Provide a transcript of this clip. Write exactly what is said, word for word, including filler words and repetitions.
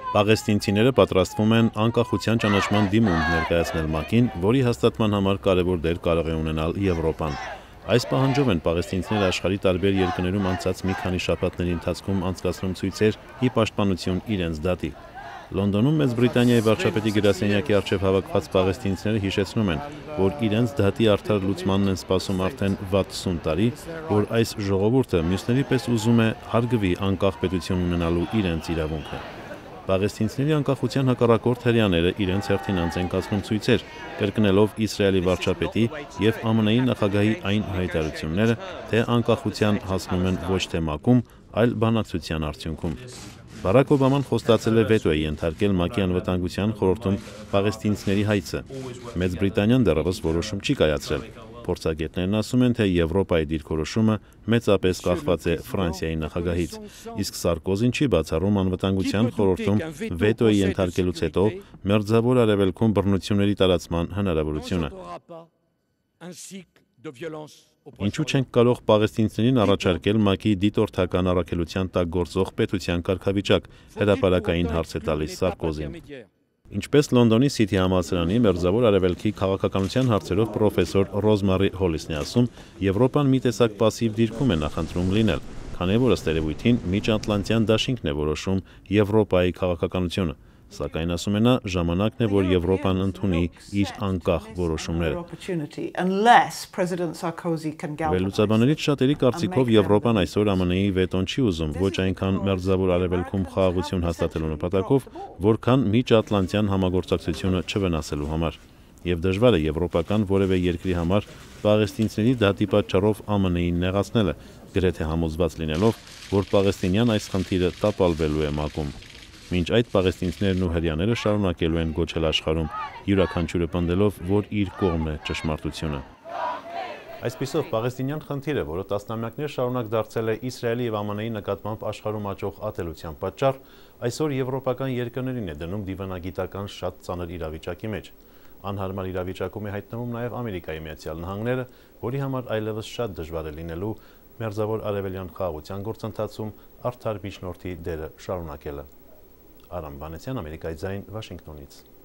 Պաղեստինցիները պատրաստվում են անկախության ճանաչման դիմում ներկայացնել ՄԱԿ-ին, որի հաստատման համար կարևոր դեր կարող է ունենալ Եվրոպան։ Այս պահանջով են պաղեստինցիները աշխարհի տարբեր երկրներում անցած մի քանի շաբաթների ընթացքում անցկացնում ցույցեր ի պաշտպանություն իրենց դատի։ Լոնդոնում Մեծ Բրիտանիայի վարչապետի գրասենյակի առջև հավաքված պաղեստինցիները հիշեցնում են, որ իրենց դատի արդար լուծմանն են սպասում արդեն վաթսուն տարի, որ այս ժողովուրդը մյուսների պես ուզում է հարգվի անկախ պետություն ունենալու իրենց իրավունքը։ Պաղեստինցիների անկախության հակառակորդ հրեաները իրենց հերթին անց են կացնում ցույցեր, կրկնելով Իսրայելի վարչապետի և ԱՄՆ-ի նախագահի այն հայտարարությունները, թե անկախության հասնում են ոչ թե ՄԱԿ-ում, այլ բանակցության արդյունքում։ Բարաք Օբաման խոստացել է վետո է ենթարկել ՄԱԿ-ի անվտանգության խորհրդում պաղեստինցիների հայցը։ Մեծ Բրիտանիան դեռևս որոշում չի կայացրել։ Փորձագետներն ասում են, թե Եվրոպայի դիրքորոշումը մեծապես կախված է Ֆրանսիայի նախագահից, իսկ Սարկոզին չի բացառում անվտանգության խորհրդում վետոյի ենթարկելուց հետո Մերձավոր Արևելքում բռնությունների տարածման հնարավորությունը։ Ինչու չենք կարող պաղեստինցիներին առաջարկել ՄԱԿ-ի դիտորդական առաքելության տակ գործող պետության կարգավիճակ, հրապարակային հարց է տալիս Սարկոզին։ Ինչպես Լոնդոնի Սիթի համալսարանի Մերձավոր Արևելքի քաղաքականության հարցերով պրոֆեսոր Ռոզմարի Հոլիսն է ասում, Եվրոպան մի տեսակ պասիվ դիրքում է նախընտրում լինել, քանի որ ըստ երևույթին միջատլանտյան դաշինքն է որոշում Եվրոպայի քաղաքականությունը, սակայն ասում է նա, ժամանակն է, որ Եվրոպան ընդունի իր անկախ որոշումները։ Վերլուծաբաններից շատերի կարծիքով Եվրոպան այսօր ԱՄՆ-ի վետոն չի ուզում ոչ այնքան Մերձավոր Արևելքում խաղաղություն հաստատելու նպատակով, որքան միջատլանտյան համագործակցությունը չվնասելու համար։ Եվ դժվար է եվրոպական որևէ երկրի համար պաղեստինցիների դատի պատճառով ԱՄՆ-ին նեղացնելը, գրեթե համոզված լինելով, որ պաղեստինյան այս խնդիրը տապալվելու է ՄԱԿ-ում։ Մինչ այդ պաղեստինցիներն ու հրեաները շարունակելու են գոչել աշխարհում, յուրաքանչյուրը պնդելով, որ իր կողմն է ճշմարտությունը։ Այսպիսով, պաղեստինյան խնդիրը, որը տասնամյակներ շարունակ դարձել է Իսրայելի և ԱՄՆ-ի նկատմամբ աշխարհում աճող ատելության պատճառ, այսօր եվրոպական երկրներին է դնում դիվանագիտական շատ ծանր իրավիճակի մեջ։ Անհարմար իրավիճակում է հայտնվում նաև Ամերիկայի Միացյալ Նահանգները, որի համար այլևս շատ դժվար է լինելու Մերձավոր Արևելյան խաղաղության գործընթացում արդար միջնորդի դերը շարունակելը։ Արամ Վանեցյան, Ամերիկայի ձայն, Վաշինգտոնից։